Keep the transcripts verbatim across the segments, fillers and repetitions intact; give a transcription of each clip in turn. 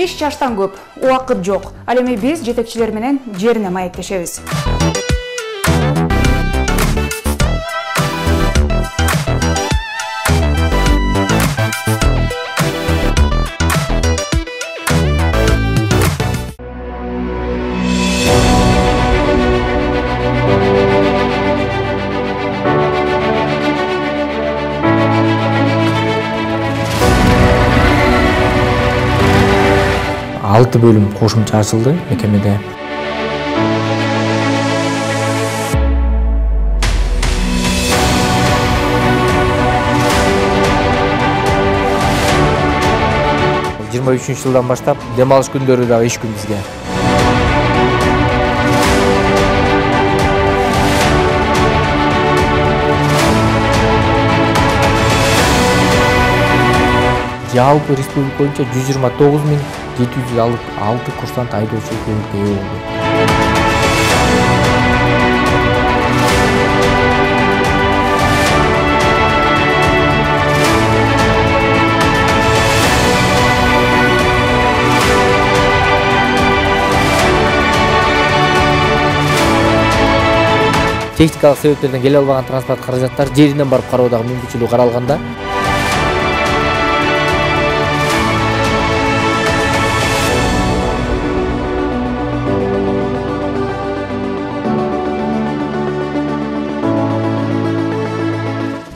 Иш жаштан көп, убакыт жок. Ал эми биз жетекчилер менен жерине маектешебиз. алты бөлүм кошумча ачылды мекемеде. жыйырма үчүнчү жылдан баштап дем алыш күндөрү дагы иш күн бизге. Жалпы республика боюнча жүз жыйырма тогуз миң жети жүз алты курсант айдоочулук көлүккө ээ болду. Техникалык себептерден келе албаган транспорт каражаттары жеринен барып кароодагы мүмкүнчүлүгү каралганда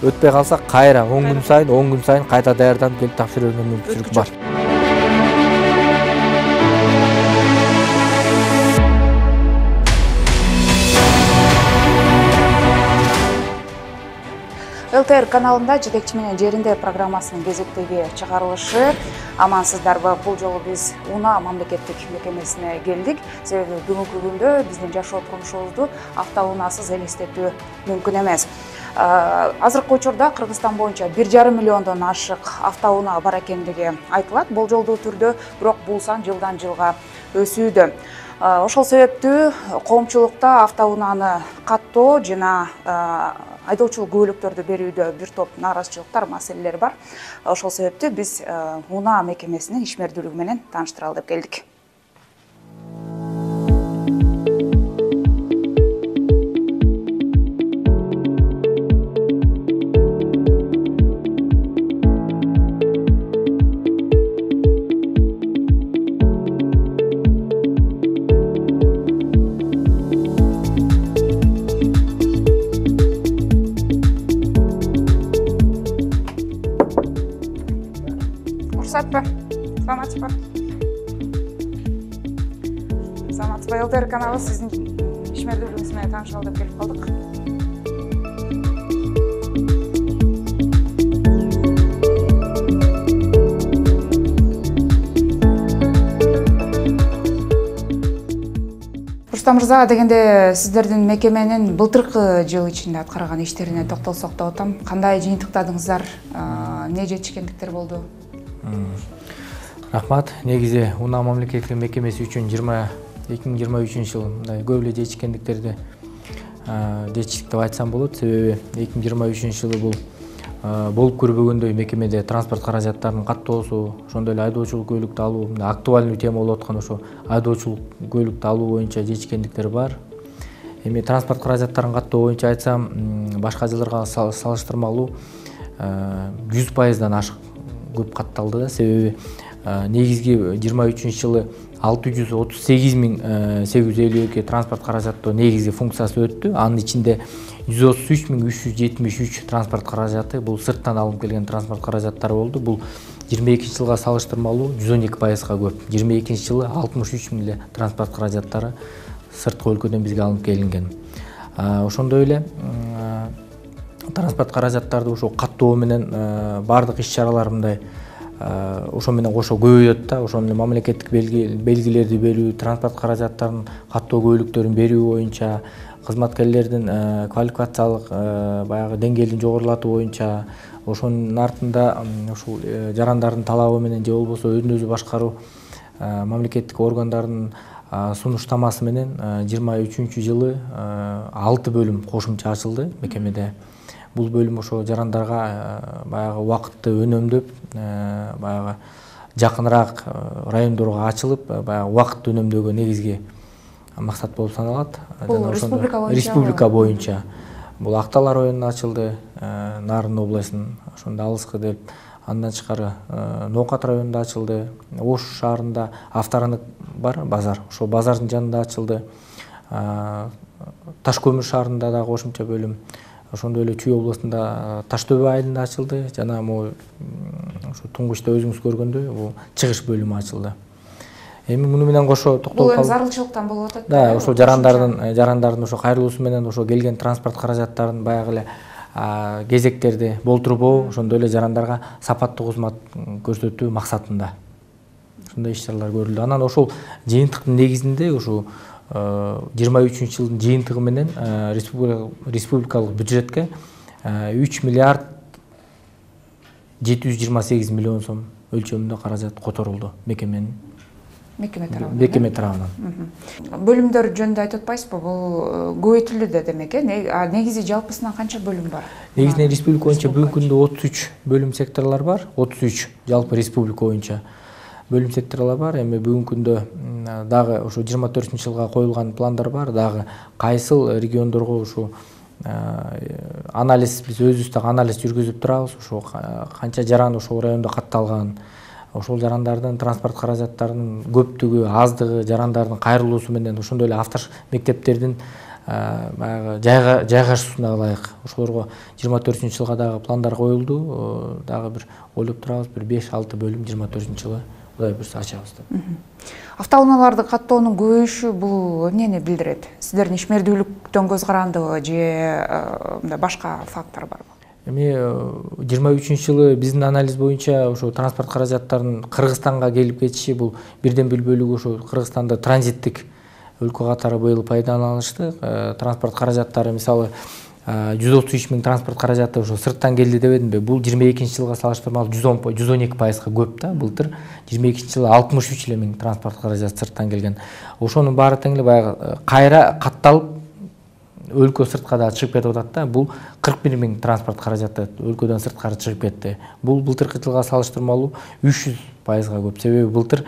өтпөй калса кайра он күн сайын он күн сайын кайта даярданып келип тапшыра берүүгө мүмкүнчүлүк бар. эл тэ эр каналында жетекчи менен жеринде программасынын кезектеги чыгарылышы. Амансыздарбы? Бул жолу биз Унаа мамлекеттик мекемесине келдик. Себеби бүгүнкү күндө биздин жашоо турмушубузду автоунаасыз элестетүү мүмкүн эмес. Азыркы учурда Кыргызстан боюнча бир жарым миллиондон ашык автоунаа бар экендиги айтылат. Болжолдуу түрдө, бирок бул сан жылдан жылга өсүүдө. Ошол себептүү коомчулукта автоунааны каттоо жана айдоочулук күбөлүктөрдү берүүдө бир топ нааразычылыктар, маселелер бар. Ошол себептүү биз Унаа мекемесинин ишмердүүлүгү менен тааныштыралы деп келдик. Уруксатпы? Саламатсызбы? Саламатсызбы? эл тэ эр каналы сиздин ишмердүүлүгүңүз менен таанышалы деп келип калдык. Рустам мырза, дегенде сиздердин мекеменин былтыркы жыл ичинде аткарган иштерине токтолсок деп атам. Кандай жыйынтыктадыңыздар? Эмне жетишкендиктер болду? Рахмат. Негизи Унаа мамлекеттик мекемеси үчүн эки миң жыйырма үчүнчү жыл мындай көп эле жетишкендиктерди жетиштик деп айтсам болот. Себеби эки миң жыйырма үчүнчү жылы бул болуп көрбөгөндөй мекемеде транспорт каражаттарынын каттоосу, ошондой эле айдоочулук көлүктү алуу, актуальный тема болуп аткан ошо айдоочулук көлүктү алуу боюнча жетишкендиктер бар. Эми транспорт каражаттарын каттоо боюнча айтсам, башка жылдарга салыштырмалуу жүз пайыздан ашык көп катталды да. Себеби негизги жыйырма үчүнчү жылы алты жүз отуз сегиз миң сегиз жүз элүү эки транспорт каражаты негизги функциясы өттү. Анын ичинде жүз отуз үч миң үч жүз жетимиш үч транспорт каражаты бул сырттан алынып келген транспорт каражаттары болду. Бул жыйырма экинчи жылга салыштырмалуу жүз он эки пайызга көп. жыйырма экинчи жылы алтымыш үч миң эле транспорт каражаттары сырткы өлкөдөн бизге алынып келинген. Ошондой эле транспорт каражаттарды ошо каттоо менен бардык иш-чаралар мындай ошо менен кошо көбөйөт да. Ошону мамлекеттик белгилерди берүү, транспорт каражаттарын каттоо көбөлүктөрүн берүү боюнча, кызматкерлердин квалификациялык баягы деңгээлин жогорулатуу боюнча, ошонун артында ушул жарандардын талабы менен же болбосо өзүн өзү башкаруу мамлекеттик органдардын сунуштамасы менен жыйырма үчүнчү жылы алты бөлүм кошумча ачылды мекемеде. Бул бөлүм ошо жарандарга баягы убакытты үнөмдөп, баягы жакыныраак райондорго ачылып, баягы убакытты үнөмдөөгө негизги максат болуп саналат. Бул республика боюнча? Республика боюнча. Бул Актала районунда ачылды, Нарын областынын ошондо алыскы деп. Андан тышкары Ноокат районунда ачылды, Ош шаарында авторынок бар базар, ошол базардын жанында ачылды. Таш көмүр шаарында да кошумча бөлүм, ошондой эле Чүй областында Таштөбө айылында ачылды, жана могу ошо туңгучта өзүңүз көргөндөй бул чыгыш бөлүмү ачылды. Эми муну менен кошо токтолуп калып. Бул зарылчылыктан болуп атат. Да, ошо жарандардын жарандардын ошо кайрылуусу менен ошо келген транспорт каражаттарын баягы эле кезектерди болтурбоо, ошондой эле жарандарга сапаттуу кызмат көрсөтүү максатында ушундай иш-чаралар көрүлдү. Анан ошол жыйынтыктын негизинде ошо жыйырма үчүнчү жылдын жыйынтыгы менен республикалык бюджетке үч миллиард жети жүз жыйырма сегиз миллион сом өлчөмүндө каражат которулду мекеменин Мекеме тарабынан. Мекеме тарабынан. Бөлүмдөр жөнүндө айтып атпайсызбы? Бул көбөйтүлдү демек, э? Негизи жалпысынан канча бөлүм бар? Негизинен республика боюнча бүгүнкү күндө отуз үч бөлүм секторлор бар. отуз үч жалпы республика боюнча бөлүм секторлор бар. Эми бүгүнкү күндө дагы ошо жыйырма төртүнчү жылга коюлган пландар бар. Дагы кайсыл региондорго ошо анализ, биз өзүбүз дагы анализ жүргүзүп турабыз. Ошо канча жаран ошол райондо катталган, ошол жарандардын транспорт каражаттарынын көптүгү, аздыгы, жарандардын кайрылуусу менен ошондой эле автор мектептердин баягы жайгашуусуна ылайык ошолорго жыйырма төртүнчү жылга дагы пландар коюлду. Дагы бир ойлоп турабыз, бир беш алты бөлүм жыйырма төртүнчү жылы Кудай буйрса ачабыз деп. Автоунааларды каттоонун көбөйүшү бул эмнени билдирет? Сиздердин ишмердүүлүктөн көз карандыбы же башка фактор барбы? Эми жыйырма үчүнчү жылы биздин анализ боюнча ошо транспорт каражаттарынын Кыргызстанга келип кетиши бул бирден бир бөлүгү ошо Кыргызстанда транзиттик өлкө катары быйыл пайдаланылышты. Транспорт каражаттары мисалы жүз отуз үч миң транспорт каражаты ошо сырттан келди дебедимби? Бул жыйырма экинчи жылга салыштырмалуу жүз он жүз он эки пайызга көп да. Былтыр жыйырма экинчи жылы алтымыш үч эле миң транспорт каражаты сырттан келген. Ошонун баары тең эле баягы кайра катталып өлкө сыртка да чыгып кетип атат да. Бул кырк бир миң транспорт каражаты өлкөдөн сырткары чыгып кетти. Бул былтыркы жылга салыштырмалуу үч жүз пайызга көп. Себеби былтыр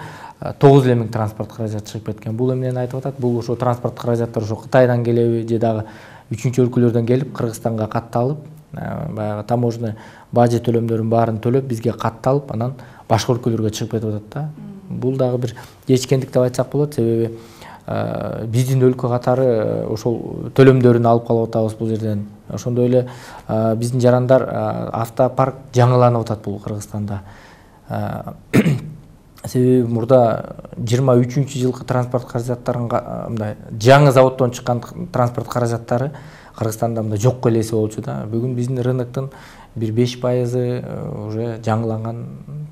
тогуз эле миң транспорт каражаты чыгып кеткен. Бул эмнени айтып атат? Бул ошо транспорт каражаттар ошо Кытайдан келеби же дагы үчүнчү өлкөлөрдөн келип Кыргызстанга катталып, баягы таможня бажы төлөмдөрүн баарын төлөп бизге катталып, анан башка өлкөлөргө чыгып кетип атат да. Бул дагы бир кечиккендик деп айтсак болот, себеби биздин өлкө катары ошол төлөмдөрүн алып калып атабыз бул жерден. Ошондой эле биздин жарандар автопарк жаңыланып атат бул Кыргызстанда. Себеби мурда жыйырма үчүнчү жылкы транспорт каражаттарынын мындай жаңы заводдон чыккан транспорт каражаттары Кыргызстанда мындай жокко элеси болчу да. Бүгүн биздин рыноктун бир беш пайызы уже жаңыланган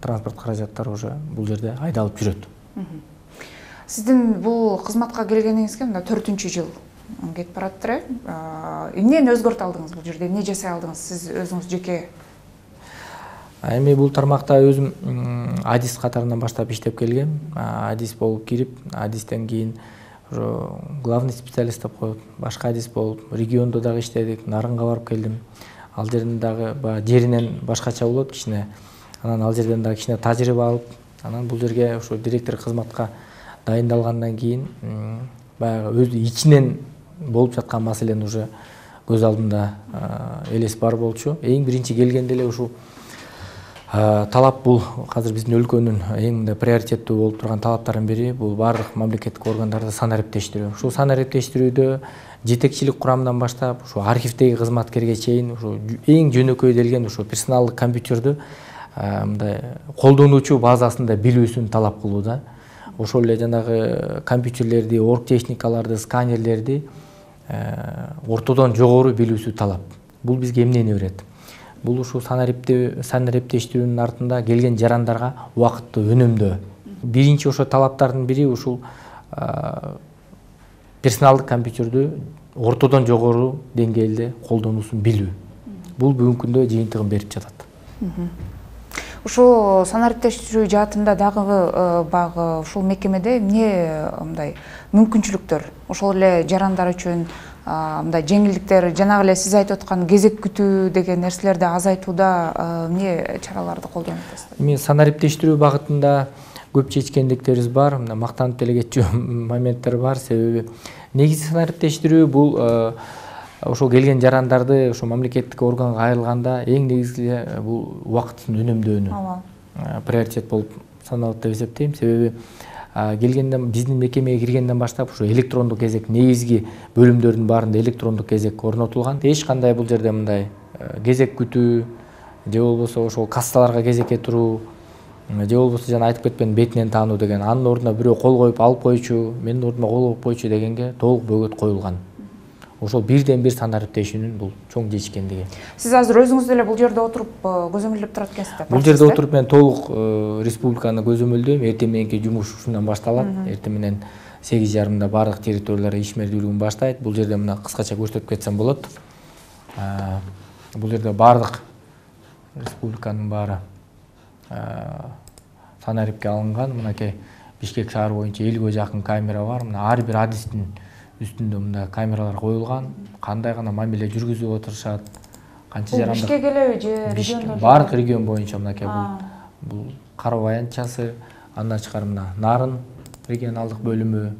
транспорт каражаттары уже бул жерде айдалып жүрөт. Сиздин бул кызматка келгениңизге мында төртүнчү жыл кетип бараттыр, э? Эмнени өзгөртө алдыңыз бул жерде? Эмне жасай алдыңыз сиз өзүңүз жеке? Эми бул тармакта өзүм адис катарынан баштап иштеп келгем. Адис болуп кирип, адистен кийин главный специалист деп коет, башка адис болуп, региондо дагы иштедик, Нарынга барып келдим. Ал жерден дагы жеринен башкача болот кичине. Анан ал жерден дагы кичине тажрыйба алып, анан бул жерге ошо директор кызматка дайындалгандан кийин баягы өзү ичинен болуп жаткан маселени уже көз алдымда элес бар болчу. Эң биринчи келгенде эле ушул талап бул азыр биздин өлкөнүн эң мындай приоритеттүү болуп турган талаптарынын бири бул баардык мамлекеттик органдарды санариптештирүү. Ушул санариптештирүүдө жетекчилик курамынан баштап ушу архивдеги кызматкерге чейин ушу эң жөнөкөйдөлген ушу персоналдык компьютердү мындай колдонуучу базасында билүүсүн талап кылуу да. Ошол эле жанагы компьютерлерди, орг техникаларды, сканерлерди ортодон жогору билүүсү талап. Бул бизге эмнени берет? Бул ушул санариптештирүүнүн артында келген жарандарга убакытты өнөмдөө. Биринчи ошо талаптардын бири ушул персоналдык компьютердү ортодон жогору деңгээлде колдонуусун билүү. Бул бүгүнкү күндө жыйынтыгын берип жатат. Ушул санариптештирүү жаатында дагы багы ушул мекемеде эмне мындай мүмкүнчүлүктөр, ошол эле жарандар үчүн мындай жеңилдиктер, жанагы эле сиз айтып аткан кезек күтүү деген нерселерди азайтууда эмне чараларды колдонуп атасыздар? Эми санариптештирүү багытында көп чечкендиктерибиз бар, мына мактанып деле кетчү моменттер бар. Себеби негизи санариптештирүү бул ошол келген жарандарды ошо мамлекеттик органга кайрылганда эң негизги бул убакытын үнөмдөөнү приоритет болуп саналат деп эсептейм. Себеби келгенден биздин мекемеге киргенден баштап ошо электрондук кезек, негизги бөлүмдөрдүн баарында электрондук кезек орнотулган. Эч кандай бул жерде мындай кезек күтүү же болбосо ошол кассаларга кезекке туруу же болбосо жана айтып кетпедим бетинен таануу деген, анын ордуна бирөө кол коюп алып койчу, менин ордума кол коюп койчу дегенге толук бөгөт коюлган. Ошол бирден бир санариптешүүнүн бул чоң жетишкендиги. Сиз азыр өзүңүз деле бул жерде отуруп көзөмөлдөп турат экенсиз. Бул жерде отуруп мен толук республиканы көзөмөлдөйм. Эртең мененки жумуш ушундан башталат. Эртең менен сегиз жарымда бардык территориялар ишмердүүлүгүн баштайт. Бул жерде мына кыскача көрсөтүп кетсем болот. Бул жерде бардык республиканын баары санарипке алынган. Мынакей Бишкек шаары боюнча элүүгө жакын камера бар. Мына ар бир адистин үстүндө мында камералар коюлган. Кандай гана мамиле жүргүзүп отурушат, канча жарандар. Бишкек элеби же региондор? Бардык регион боюнча мынакей бул бул Кара Баянчасы, андан тышкары мына Нарын регионалдык бөлүмү,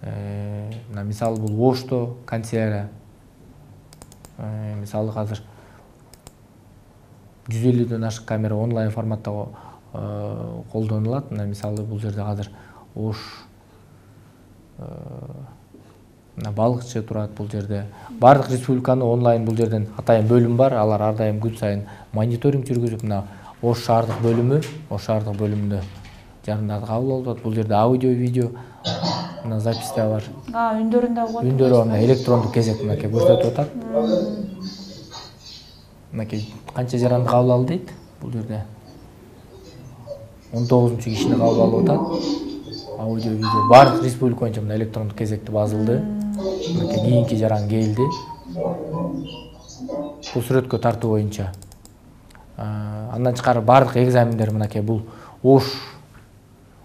мына мисалы бул Ошто канцелярия. Мисалы азыр жүз элүүдөн ашык камера онлайн форматта колдонулат. Мына мисалы бул жерде азыр Ош балыкчы турат бул жерде. Бардык республиканы онлайн бул жерден атайын бөлүм бар. Алар ар дайым күн сайын мониторинг жүргүзүп, мына Ош шаардык бөлүмү, Ош шаардык бөлүмүндө жарандарды кабыл алып атат. Бул жерде аудио, видео мына записта бар. А, үндөрүн да угат. Үндөрү мына электрондук кезек мынакей көрсөтүп атат. Мынакей канча жаранды кабыл алды дейт. Бул жерде он тогузунчу кишини кабыл алып атат. Аудио, видео бардык республика боюнча мына электрондук кезекти базылды. Мынакей кийинки жаран келди. Бул сүрөткө тартуу боюнча. Андан тышкары бардык экзамендер мынакей бул Ош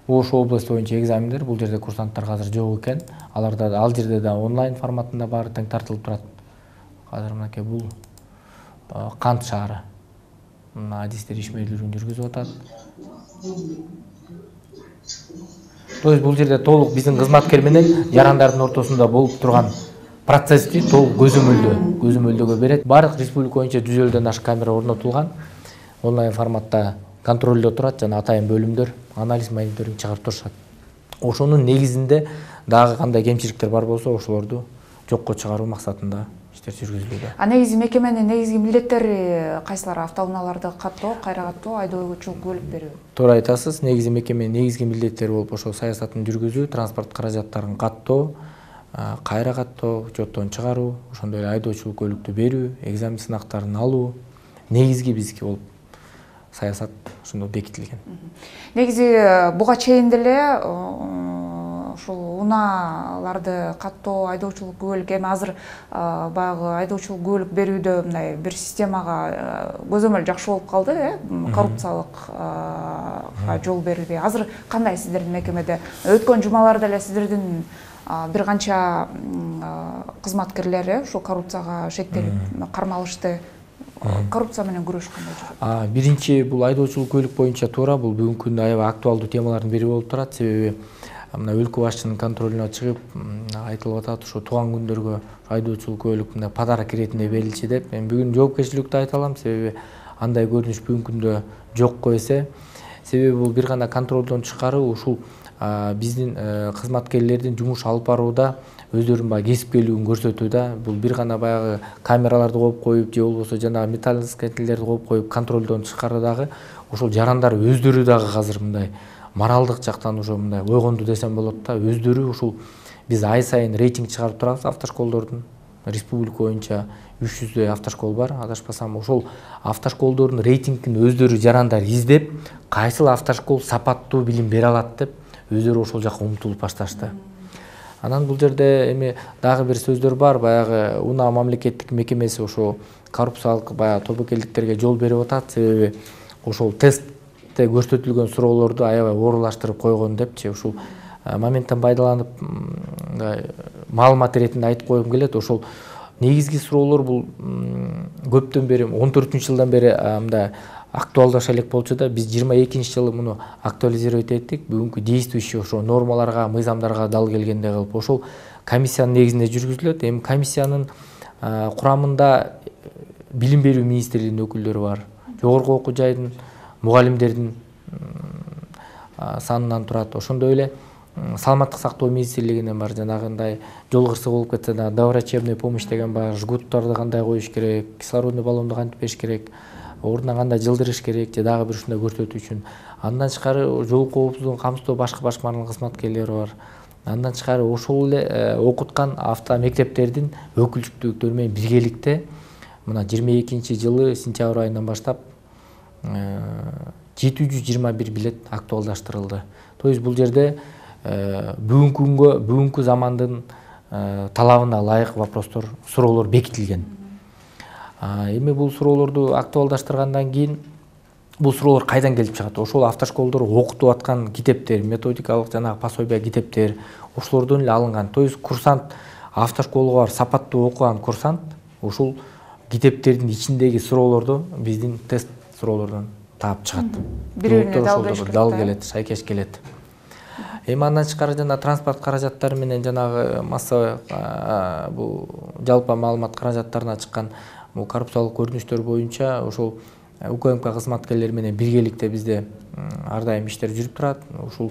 Ош областы боюнча экзамендер. Бул жерде курсанттар азыр жок экен. Аларда ал жерде да онлайн форматында баары тең тартылып турат. Азыр мынакей бул Кант шаары. Мына адистер ишмердүүлүгүн жүргүзүп атат. То есть бул жерде толук биздин кызматкер менен жарандардын ортосунда болуп турган процессти толук көзөмөлдөө, көзөмөлдөөгө берет. Бардык республика боюнча жүз элүүдөн ашык камера орнотулган. Онлайн форматта контролдо турат жана атайын бөлүмдөр анализ, мониторинг чыгарып турушат. Ошонун негизинде дагы кандай кемчиликтер бар болсо ошолорду жокко чыгаруу максатында иштер жүргүзүлүүдө. А негизи мекеменин негизги милдеттери кайсылар? Автоунааларды каттоо, кайра каттоо, айдоочулук көлүк берүү. Туура айтасыз. Негизи мекеменин негизги милдеттери болуп ошол саясатын жүргүзүү, транспорт каражаттарын каттоо, кайра каттоо, учеттон чыгаруу, ошондой эле айдоочулук көлүктү берүү, экзамен сынактарын алуу негизги бизги болуп саясат ошондо бекитилген. Негизи буга чейин деле ушул унааларды каттоо, айдоочулук күбөлүк, эми азыр баягы айдоочулук күбөлүк берүүдө мындай бир системага көзөмөл жакшы болуп калды, э? Коррупциялыкка жол берилбей. Азыр кандай сиздердин мекемеде? Өткөн жумаларда эле сиздердин бир канча кызматкерлери ушул коррупцияга шектелип кармалышты. Коррупция менен күрөш кандай жүрөт? Биринчи бул айдоочулук көлүк боюнча туура, бул бүгүнкү күндө аябай актуалдуу темалардын бири болуп турат. Себеби мына өлкө башчынын контролуна чыгып айтылып атат, ошо тууган күндөргө айдоочулук көлүк мына подарок иретинде берилчи деп. Мен бүгүн жоопкерчиликтүү айта алам, себеби андай көрүнүш бүгүнкү күндө жокко эсе. Себеби бул бир гана контролдон тышкары ушул биздин кызматкерлердин жумуш алып барууда өздөрүнүн баягы кесипкерлигин көрсөтүүдө. Бул бир гана баягы камераларды коюп коюп же болбосо жана металлоискателерди коюп коюп контролдон тышкары дагы ошол жарандар өздөрү дагы азыр мындай моралдык жактан уже мындай ойгонду десем болот да. Өздөрү ушул биз ай сайын рейтинг чыгарып турабыз автошколдордун. Республика боюнча үч жүздөй автошкол бар, адашпасам. Ошол автошколдордун рейтингин өздөрү жарандар издеп, кайсыл автошкол сапаттуу билим бере алат деп өздөрү ошол жакка умтулуп башташты. Анан бул жерде эми дагы бир сөздөр бар. Баягы унаа мамлекеттик мекемеси ошо коррупциялык баягы тобокелдиктерге жол берип атат. Себеби ошол тестте көрсөтүлгөн суроолорду аябай оорлаштырып койгон депчи. Ушул моменттен пайдаланып маалымат иретинде айтып койгум келет. Ошол негизги суроолор бул көптөн бери он төртүнчү жылдан бери мындай актуалдаша элек болчу да, биз жыйырма экинчи жылы муну актуализировать эттик. Бүгүнкү действующий ошо нормаларга, мыйзамдарга дал келгендей кылып ошол комиссиянын негизинде жүргүзүлөт. Эми комиссиянын курамында билим берүү министрлигинин өкүлдөрү бар, жогорку окуу жайдын мугалимдердин санынан турат. Ошондой эле саламаттык сактоо министрлигинен бар, жанагындай жол кырсыгы болуп кетсе да доврачебный помощь деген бар, жгуттарды кандай коюш керек, кислородный баллонду кантип бериш керек, ордуна кандай жылдырыш керек же дагы бир ушундай көрсөтүү үчүн. Андан тышкары жол коопсуздугун камсыздоо башкы башкармалык кызматкерлери бар. Андан тышкары ошол эле окуткан авто мектептердин өкүлчүктүүлүктөрү менен биргеликте мына жыйырма экинчи жылы сентябрь айынан баштап жети жүз жыйырма бир билет актуалдаштырылды. То есть бул жерде бүгүнкү күнгө, бүгүнкү замандын талабына ылайык вопростор, суроолор бекитилген. Эми бул суроолорду актуалдаштыргандан кийин бул суроолор кайдан келип чыгат? Ошол автошколдор окутуп аткан китептер, методикалык жанагы пособия китептер, ошолордон эле алынган. То есть курсант, автошколго барып сапаттуу окуган курсант ошол китептердин ичиндеги суроолорду биздин тест суроолордон таап чыгат. Бири-бирине дал келет, шайкеш келет. Эми андан тышкары жана транспорт каражаттары менен жанагы массовый бул жалпы маалымат каражаттарына чыккан бул коррупциялык көрүнүштөр боюнча ошол УКМК кызматкерлери менен биргеликте бизде ар дайым иштер жүрүп турат. Ушул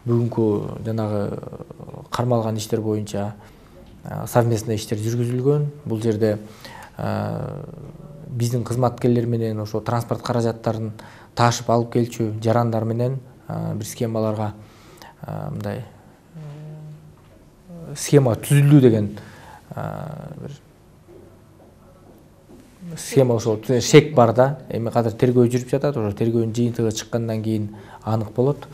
бүгүнкү жанагы кармалган иштер боюнча совместный иштер жүргүзүлгөн. Бул жерде биздин кызматкерлер менен ошо транспорт каражаттарын таашып алып келчү жарандар менен бир схемаларга мындай схема түзүлдү деген бир схема, ошол шек бар да. Эми азыр тергөө жүрүп жатат, ошо тергөөнүн жыйынтыгы чыккандан кийин анык болот.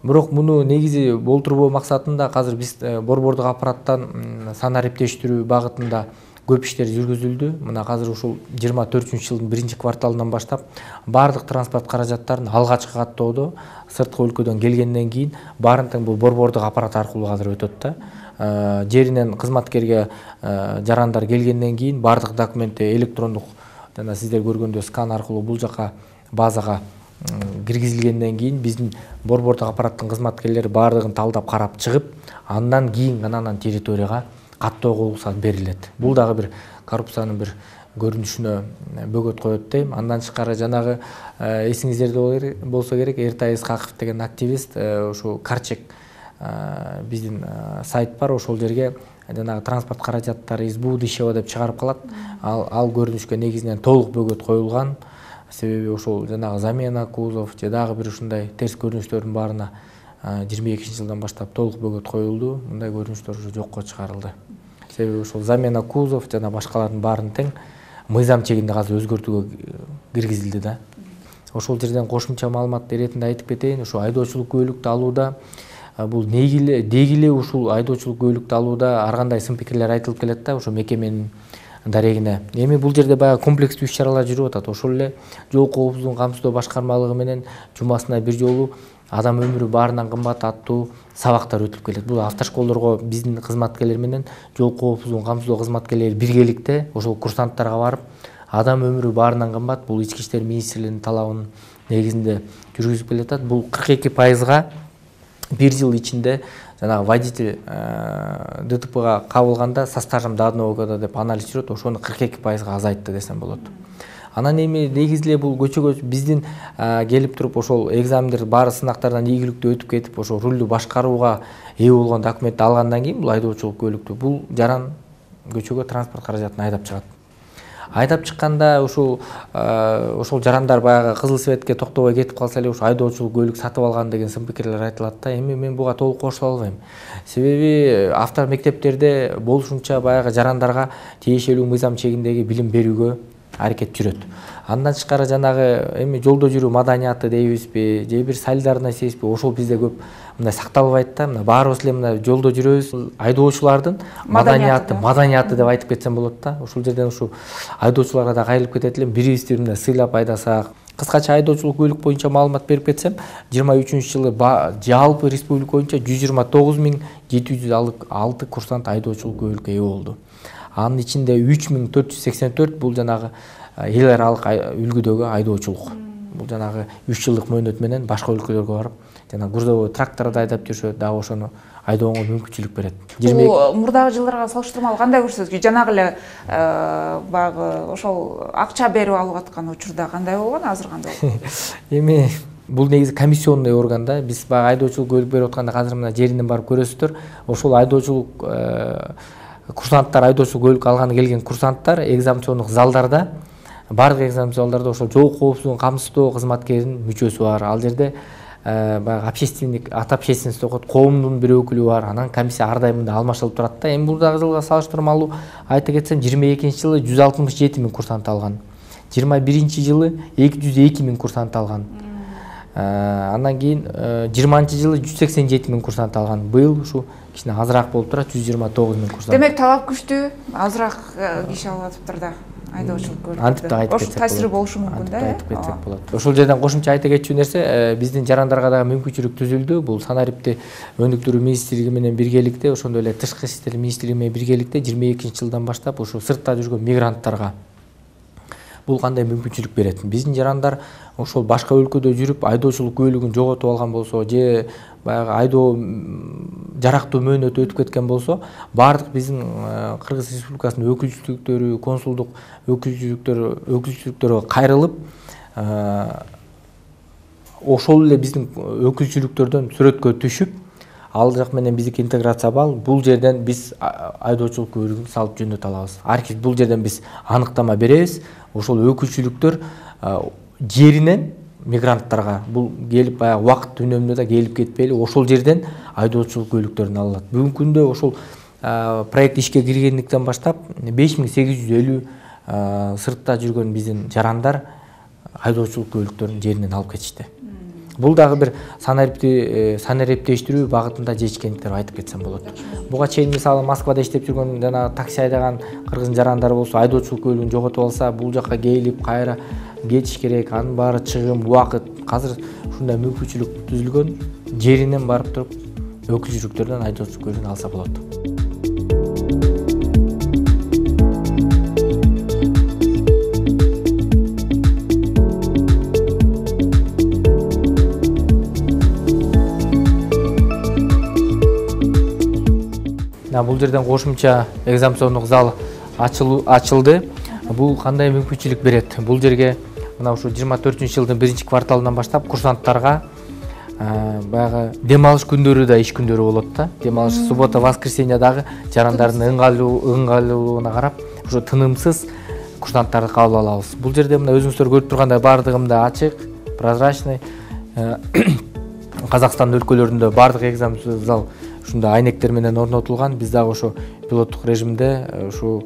Бирок муну негизи болтурбоо максатында азыр биз борбордук аппараттан санариптештирүү багытында көп иштер жүргүзүлдү. Мына азыр ушул жыйырма төртүнчү жылдын биринчи кварталынан баштап баардык транспорт каражаттарын алгачкы каттоодо сырткы өлкөдөн келгенден кийин баарын тең бул борбордук аппарат аркылуу азыр өтөт да. Жеринен кызматкерге жарандар келгенден кийин баардык документти электрондук жана сиздер көргөндөй скан аркылуу бул жака базага киргизилгенден кийин биздин борбордук аппараттын кызматкерлери баардыгын талдап карап чыгып, андан кийин гана анан территорияга каттоого уруксат берилет. Бул дагы бир коррупциянын бир көрүнүшүнө бөгөт коет дейм. Андан тышкары жанагы эсиңиздерде болсо керек, Эртай Исхаков деген активист ошо Карчек биздин сайт бар, ошол жерге жанагы транспорт каражаттары из будущего деп чыгарып калат. Ал, ал көрүнүшкө негизинен толук бөгөт коюлган. Себеби ошол жанагы замена кузов же дагы бир ушундай терс көрүнүштөрдүн баарына жыйырма экинчи жылдан баштап толук бөгөт коюлду. Мындай көрүнүштөр уже жокко чыгарылды. Себеби ошол замена кузов жана башкалардын баарын тең мыйзам чегинде азыр өзгөртүүгө киргизилди да. Ошол жерден кошумча маалымат иретинде айтып кетейин. Ошо айдоочулук күбөлүктү алууда бул негиле дегиле ушул айдоочулук күбөлүктү алууда ар кандай сын пикирлер айтылып келет да, ошо мекеменин дарегине. Эми бул жерде баягы комплекстүү иш-чаралар жүрүп атат. Ошол эле жол коопсуздугун камсыздоо башкармалыгы менен жумасына бир жолу адам өмүрү баарынан кымбат аттуу сабактар өтүп келет. Бул автошколдорго биздин кызматкерлер менен жол коопсуздугун камсыздоо кызматкерлери биргеликте ошол курсанттарга барып, адам өмүрү баарынан кымбат, бул ички иштер министрлигинин талабынын негизинде жүргүзүп келатат. Бул кырк эки пайызга бир жыл ичинде жанагы водитель ДТПга кабылганда со стажем до одного года деп анализ жүрөт, ошону кырк эки пайызга азайтты десем болот. Анан эми негизи эле бул көчөгө биздин келип туруп ошол экзамендер баары сынактардан ийгиликтүү өтүп кетип, ошо рулду башкарууга ээ болгон документти алгандан кийин бул айдоочулук күбөлүктүү бул жаран көчөгө транспорт каражатын айдап чыгат. Айдап чыкканда ушул ошол жарандар баягы кызыл светке токтобой кетип калса эле ошо айдоочулук күбөлүк сатып алган деген сын пикирлер айтылат да. Эми мен буга толук кошула албайм. Себеби авто мектептерде болушунча баягы жарандарга тиешелүү мыйзам чегиндеги билим берүүгө аракет жүрөт. Андан тышкары жанагы эми жолдо жүрүү маданияты дейбизби, же бир солидарность дейбизби, ошол бизде көп мындай сакталбайт да. Мына баарыбыз эле мына жолдо жүрөбүз, айдоочулардын маданияты, маданияты деп айтып кетсем болот да. Ошол жерден ушу айдоочуларга да кайрылып кетет элем, бирибизди мындай сыйлап айдасак, кыскача айдоочулук көлүк боюнча маалымат берип кетсем, жыйырма үчүнчү жылы жалпы республика боюнча жүз жыйырма тогуз миң жети жүз алты курсант айдоочулук көлүккө ээ болду. Анын ичинде үч миң төрт жүз сексен төрт бул жанагы эл аралык үлгүдөгү айдоочулук. Бул жанагы үч жылдык мөөнөт менен башка өлкөлөргө барып, жана грузовой тракторду айдап жүрүшөт, дагы ошону айдоого мүмкүнчүлүк берет. Бул мурдагы жылдарга салыштырмалуу кандай көрсөткүч? Жанагы эле баягы ошол акча берип алып аткан учурда кандай болгон, азыр кандай болгон? Эми бул негизи комиссионный орган да. Биз баягы айдоочулук көлүк берип атканда азыр мына жеринен барып көрөсүздөр. Ошол айдоочулук курсанттар, айдоочулук көлүк алганы келген курсанттар экзаменациондук залдарда, бардык экзаменациондук залдарда ошол жол коопсуздугун камсыздоо кызматкеринин мүчөсү бар. Ал жерде баягы общественник, от общественности окут, коомдун бир өкүлү бар. Анан комиссия ар дайым мындай алмашылып турат да. Эми мурдагы жылга салыштырмалуу айта кетсем, жыйырма экинчи жылы жүз алтымыш жети миң курсант алган. жыйырма биринчи жылы эки жүз эки миң курсант алган. Андан кийин жыйырманчы жылы жүз сексен жети миң курсант алган. Быйыл ушу кичине азыраак болуп турат, жүз жыйырма тогуз миң курсант. Демек талап күчтүү, азыраак киши алып атыптыр да. Айдоочулук көлүк. Антип да айтып кетсек болот. Ошол таасири болушу мүмкүн да. Айтып кетсек болот. Ошол жерден кошумча айта кетчү нерсе, биздин жарандарга дагы мүмкүнчүлүк түзүлдү. Бул санариптик өнүктүрүү министрлиги менен биргеликте, ошондой эле тышкы иштер министрлиги менен биргеликте жыйырма экинчи жылдан баштап ошо сыртта жүргөн мигранттарга бул кандай мүмкүнчүлүк берет? Биздин жарандар ошол башка өлкөдө жүрүп айдоочулук көлүгүн жоготуп алган болсо, же баягы айдоо жарактуу мөөнөтү өтүп кеткен болсо, бардык биздин Кыргыз Республикасынын өкүлчүлүктөрү, консулдук өкүлчүлүктөрү өкүлчүлүктөргө кайрылып, ошол эле биздин өкүлчүлүктөрдөн сүрөткө түшүп, ал жак менен биздики интеграция бал, бул жерден биз айдоочулук көлүгүн салып жөнөтө алабыз. Архив бул жерден биз аныктама беребиз. Ошол өкүлчүлүктөр жеринен мигранттарга бул келип баягы убакыт үнөмдө да келип кетпейли, ошол жерден айдоочулук көлүктөрүн алат. Бүгүнкү күндө ошол проект ишке киргендиктен баштап беш миң сегиз жүз элүү сыртта жүргөн биздин жарандар айдоочулук көлүктөрүн жеринен алып кетишти. Бул дагы бир санариптештирүү багытында жетишкендиктерди айтып кетсем болот. Буга чейин мисалы Москвада иштеп жүргөн жана такси айдаган кыргыз жарандар болсо айдоочулук көлүгүн жоготуп алса, бул жакка келип кайра кетиш керек, анын баары чыгым, убакыт. Азыр ушундай мүмкүнчүлүк түзүлгөн, жеринен барып туруп өкүлчүлүктөрдөн айдоочулук көлүгүн алса болот. Бул жерден кошумча экзаменациондук зал ачылды. Бул кандай мүмкүнчүлүк берет? Бул жерге мына ушу жыйырма төртүнчү жылдын биринчи кварталынан баштап курсанттарга баягы дем алыш күндөрү да иш күндөрү болот да. Дем алыш суббота, воскресенье дагы жарандардын ыңгайлуулугуна карап, ушу тынымсыз курсанттарды кабыл алабыз. Бул жерде мына өзүңүздөр көрүп тургандай бардыгында ачык, прозрачный. Казакстан өлкөлөрүндө бардык экзаменациондук зал ушундай айнектер менен орнотулган. Биз дагы ошо пилоттук режимде ушу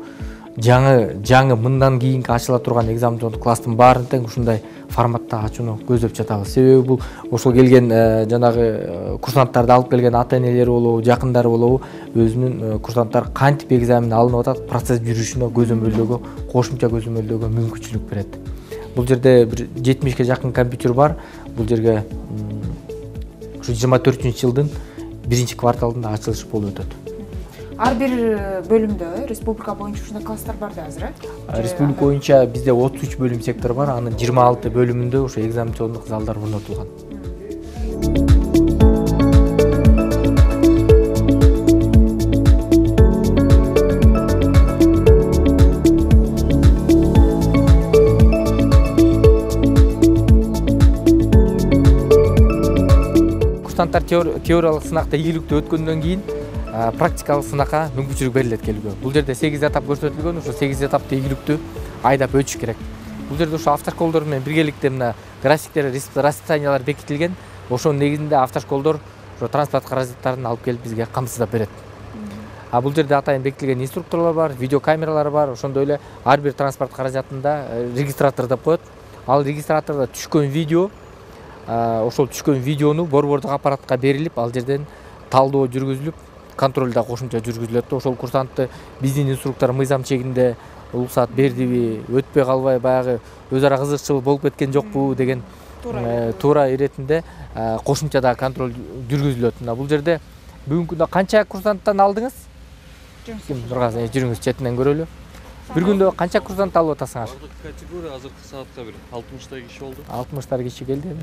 жаңы жаңы мындан кийинки ачыла турган экзаменациондук класстын баарын тең ушундай форматта ачууну көздөп жатабыз. Себеби бул ошол келген жанагы курсанттарды алып келген ата-энелери болобу, жакындары болобу, өзүнүн курсанттар кантип экзамен алынып атат, процесс жүрүшүнө көзөмөлдөөгө, кошумча көзөмөлдөөгө мүмкүнчүлүк берет. Бул жерде бир жетимишке жакын компьютер бар. Бул жерге ушу жыйырма төртүнчү жылдын биринчи кварталында ачылыш болуп өтөт. Ар бир бөлүмдө республика боюнча ушундай класстар бар да азыр, э? Республика боюнча бизде отуз үч бөлүм сектор бар, анын жыйырма алты бөлүмүндө ошо экзаменациондук залдар орнотулган. Курсанттар теориялык сынакта ийгиликтүү өткөндөн кийин практикалык сынакка мүмкүнчүлүк берилет келүүгө. Бул жерде сегиз этап көрсөтүлгөн, ошо сегиз этапты ийгиликтүү айдап өтүш керек. Бул жерде ошо автошколдор менен биргеликте мына графиктер, расписаниялар бекитилген. Ошонун негизинде автошколдор ошо транспорт каражаттарын алып келип бизге камсыздап берет. А бул жерде атайын бекитилген инструкторлор бар, видеокамералар бар. Ошондой эле ар бир транспорт каражатында регистратор деп коет. Ал регистратордо түшкөн видео, ошол түшкөн видеону борбордук аппаратка берилип, ал жерден талдоо жүргүзүлүп, контроль да кошумча жүргүзүлөт. Ошол курсантты биздин инструктор мыйзам чегинде уруксаат бердиби, өтпөй калбай баягы өз ара кызыкчылык болуп кеткен жокпу деген туура иретинде кошумча да контроль жүргүзүлөт. Мына бул жерде бүгүнкү күндө канча курсанттан алдыңыз? Жүрүңүз четинен көрөлү. Бир күндө канча курсант алып атасыңар? Категория азыркы саатка бир алтымыштай киши болду. алтымыштар киши келди.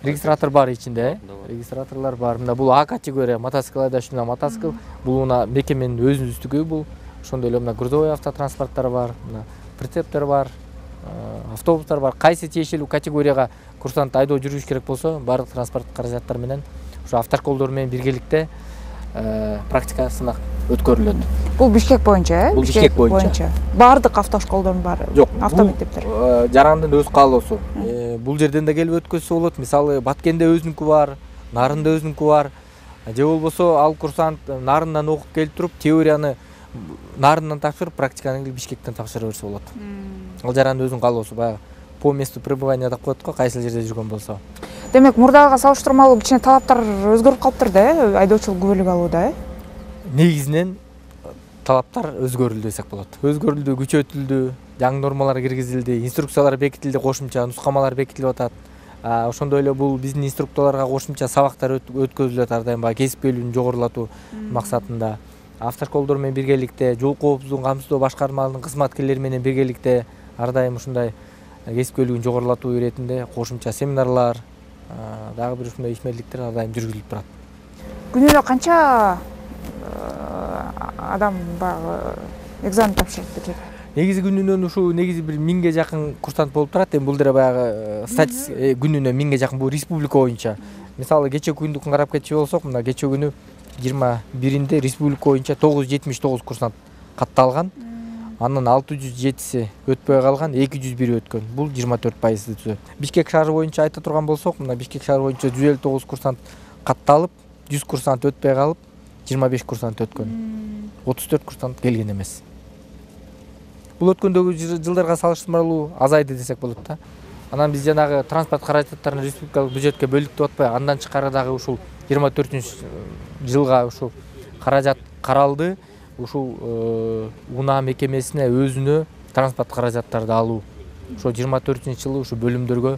Регистратор бар ичинде, регистраторлор бар. Мына бул А категория мотоцикл айдашуна мотоцикл. Бул мына мекеменин өзүнүздүкү бул. Ошондой эле мына грузовой автотранспорттор бар, мына прицептер бар, автобустар бар. Кайсы тиешелүү категорияга курсант айдоо жүргүзүш керек болсо, баардык транспорт каражаттар менен ошо автошколдор менен биргеликте практика сынак өткөрүлөт. Бул Бишкек боюнча, э? Бул Бишкек боюнча. Баардык автошколдордун баары? Жок, автомектептер. Жарандын өз каалоосу. Бул жерден да келип өткөзсө болот. Мисалы, Баткенде өзүнүкү бар, Нарында өзүнүкү бар. Же болбосо ал курсант Нарындан окуп келип туруп, теорияны Нарындан тапшырып, практиканы Бишкектен тапшыра берсе болот. Ал жарандын өзүнүн каалоосу, баягы по месту пребывания деп коет го, кайсыл жерде жүргөн болсо. Демек, мурдага салыштырмалуу кичине талаптар өзгөрүп калыптыр да, э? Айдоочулук күбөлүк алууда, э? Негизинен талаптар өзгөрүлдү десек болот. Өзгөрүлдү, күчөтүлдү, жаңы нормалар киргизилди, инструкциялар бекитилди, кошумча нускамалар бекитилип атат. Ошондой эле бул биздин инструкторлорго кошумча сабактар өткөзүлөт ар дайым, баягы кесипкөйлүгүн жогорулатуу максатында. Автошколдор менен биргеликте, жол коопсуздугун камсыздоо башкармаларынын кызматкерлери менен биргеликте ар дайым ушундай кесипкөйлүгүн жогорулатуу иретинде кошумча семинарлар, дагы бир ушундай ишмерликтер ар дайым жүргүзүлүп турат. Күнүнө канча адам баягы экзамен тапшырып кетет? Негизи күнүнөн ушу негизи бир миңге жакын курсант болуп турат. Эми бул деле баягы статистика күнүнө миңге жакын, бул республика боюнча. Мисалы, кечээ күндү карап кетчү болсок, мына кечээ күнү жыйырма биринде республика боюнча тогуз жүз жетимиш тогуз курсант катталган. Анын алты жүз жетиси өтпөй калган, эки жүз бири өткөн. Бул жыйырма төрт пайызды түзөт. Бишкек шаары боюнча айта турган болсок, мына Бишкек шаары боюнча жүз элүү тогуз курсант катталып, жүз курсант өтпөй калып, жыйырма беш курсант өткөн. отуз төрт курсант келген эмес. Бул өткөндөгү жылдарга салыштырмалуу азайды десек болот да. Анан биз жанагы транспорт каражаттарын республикалык бюджетке бөлдүк деп атпайбы? Андан чыкары дагы ушул жыйырма төртүнчү жылга ушул каражат каралды. Ушул унаа мекемесине өзүнө транспорт каражаттарды алуу. Ошо жыйырма төртүнчү жылы ушу бөлүмдөргө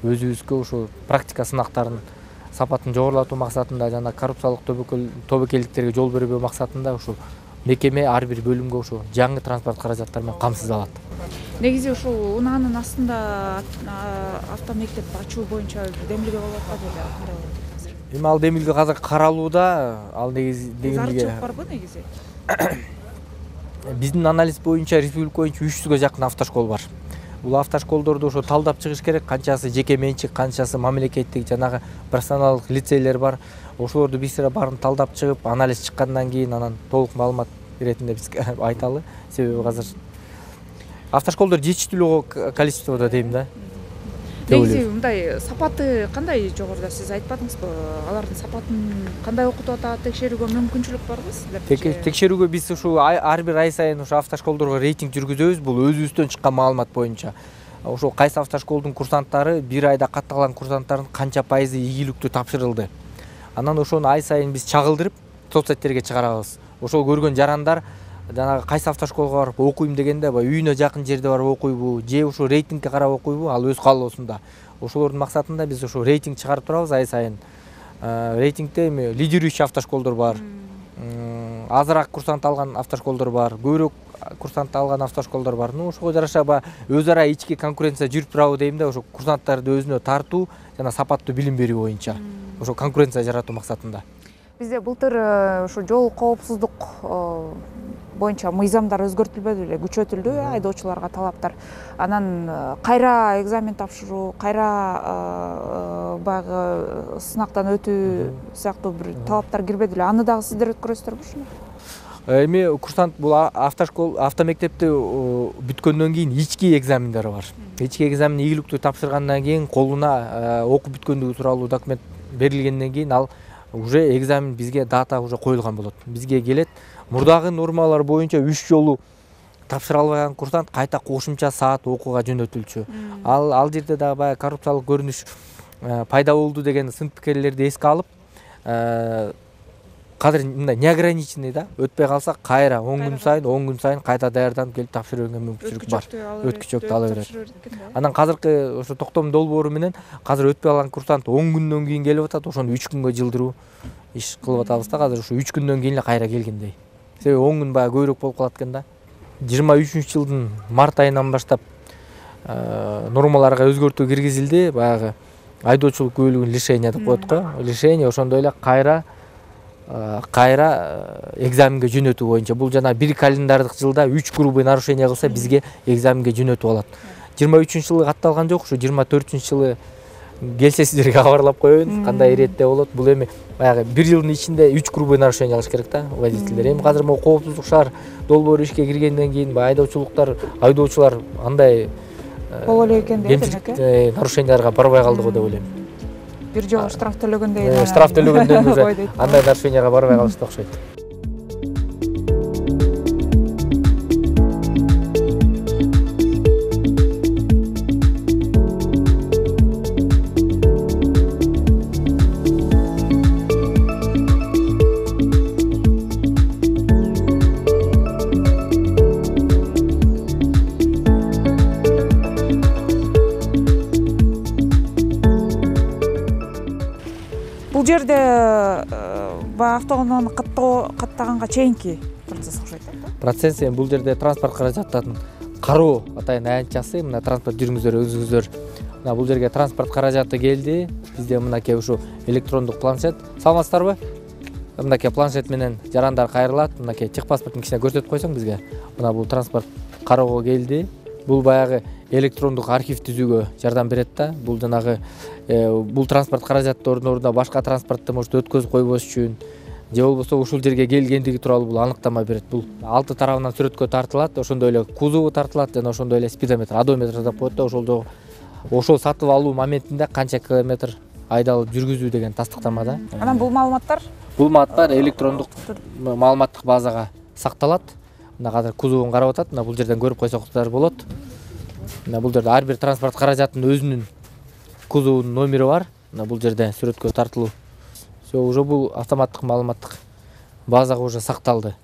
өзүбүзгө ушу практика сынактарын сапатын жогорулатуу максатында жана коррупциялык тобокелдиктерге жол бербөө максатында ушул мекеме ар бир бөлүмгө ушу жаңы транспорт каражаттары менен камсыз алат. Негизи ушул унаанын астында автомектеп ачуу боюнча демилге болуп атпайбы беле? Кандай болот азыр? Эми ал демилге азыр каралууда. Ал негизи демилге барбы негизи? Биздин анализ боюнча республика боюнча үч жүзгө жакын автошкол бар. Бул автошколдорду ошо талдап чыгыш керек. Канчасы жеке менчик, канчасы мамлекеттик, жанагы профессионалдык лицейлер бар. Ошолорду биз баарын талдап чыгып, анализ чыккандан кийин анан толук маалымат иретинде биз айталы. Себеби азыр автошколдор жетиштүү количестводо дейм да. Негизи мындай сапаты кандай жогоруда, сиз айтпадыңызбы? Алардын сапатын кандай окутуп атат, текшерүүгө мүмкүнчүлүк барбы силерде? Текшерүүгө биз ушу ар бир ай сайын ушу автошколдорго рейтинг жүргүзөбүз. Бул өзүбүздөн чыккан маалымат боюнча. Ошо кайсы автошколдун курсанттары бир айда катталган курсанттардын канча пайызы ийгиликтүү тапшырылды. Анан ошону ай сайын биз чагылдырып соцсеттерге чыгарабыз. Ошол көргөн жарандар жанагы кайсы автошколго барып окуйм дегенде, баягы үйүнө жакын жерде барып окуйбу, же ушу рейтингке карап окуйбу, ал өз каалоосунда. Ошолордун максатында биз ушу рейтинг чыгарып турабыз ай сайын. Рейтингде эми лидирующий автошколдор бар. Азыраак курсант алган автошколдор бар, көбүрөөк курсант алган автошколдор бар. Ну, ошого жараша баягы өз ара ички конкуренция жүрүп турабы дейм да, ошо курсанттарды өзүнө тартуу жана сапаттуу билим берүү боюнча. Ошо конкуренция жаратуу максатында. Бизде былтыр ушу жол коопсуздук боюнча мыйзамдар өзгөртүлбөдү беле, күчөтүлдү айдоочуларга талаптар. Анан кайра экзамен тапшыруу, кайра баягы сынактан өтүү сыяктуу бир талаптар кирбеди эле. Аны дагы сиздер өткөрөсүздарбы ушуну? Эми курсант бул автошкол автомектепти бүткөндөн кийин ички экзамендер бар. Ички экзамен ийгиликтүү тапшыргандан кийин колуна окуп бүткөндүгү тууралуу документ берилгенден кийин ал уже экзамен бизге дата уже коюлган болот. Бизге келет. Мурдагы нормалар боюнча үч жолу тапшыра албаган курсант кайта кошумча саат окууга жөнөтүлчү. Ал ал жерде дагы баягы коррупциялык көрүнүш пайда болду деген сын пикирлерди эске алып, кадыр мындай неограниченный да, өтпөй калса кайра он күн сайын он күн сайын кайта даярданып келип тапшырып берүүгө мүмкүнчүлүк бар. Өткүчөктү ала берет. Анан казыркы ошо токтом долбоору менен казыр өтпөй калган курсант он күндөн кийин келип атат, ошону үч күнгө жылдыруу иш кылып атабыз да. Казыр ушу үч күндөн кийин эле кайра келгендей. Себеби он күн баягы көбүрөөк болуп калат экен да. жыйырма үчүнчү жылдын март айынан баштап нормаларга өзгөртүү киргизилди. Баягы айдоочулук күбөлүгүн лишение деп коет го. Лишение ошондой эле кайра кайра экзаменге жөнөтүү боюнча. Бул жана бир календардык жылда үч грубый нарушение кылса бизге экзаменге жөнөтүп алат. жыйырма үчүнчү жылы катталган жок, ушу жыйырма төртүнчү жылы келсе сиздерге кабарлап коеюн, кандай иретте болот. Бул эми баягы бир жылдын ичинде үч грубый нарушение кылыш керек да водительдер. Эми казыр могу коопсуздук шаар долбоору ишке киргенден кийин баягы айдоочулуктар, айдоочулар андай боло эле экен дейт элек. Нарушенияларга барбай калды го деп ойлойм. Бир жолу штраф төлөгөндөн штраф төлөгөндөн уже андай нарушенияга барбай калышты окшойт. Бул жерде баягы автоунааны каттаганга чейинки процесс окшойт да? Процесс эми бул жерде транспорт каражаттарын кароо атайын аянтчасы, мына транспорт жүргүңүздөр өзүңүздөр. Мына бул жерге транспорт каражаты келди. Бизде мынакей ушу электрондук планшет. Саламатсыздарбы? Мынакей планшет менен жарандар кайрылат. Мынакей техпаспорттун кичине көрсөтүп койсоң бизге. Мына бул транспорт кароого келди. Бул баягы электрондук архив түзүүгө жардам берет да. Бул жанагы бул транспорт каражаттарынын ордуна башка транспортто может өткөзүп койбош үчүн же болбосо ушул жерге келгендиги тууралуу бул аныктама берет. Бул алты тарабынан сүрөткө тартылат, ошондой эле кузову тартылат жана ошондой эле спидометр, одометр деп коет да. Ошол ошол сатып алуу моментинде канча километр айдалып жүргүзүү деген тастыктама да. Анан бул маалыматтар бул маалыматтар электрондук маалыматтык базага сакталат. Мына азыр кузовун карап атат. Мына бул жерден көрүп койсоңуздар болот. Мына бул жерде ар бир транспорт каражатынын өзүнүн кузовунун номери бар. Мына бул жерде сүрөткө тартылуу. Все, уже бул автоматтык маалыматтык базага уже сакталды.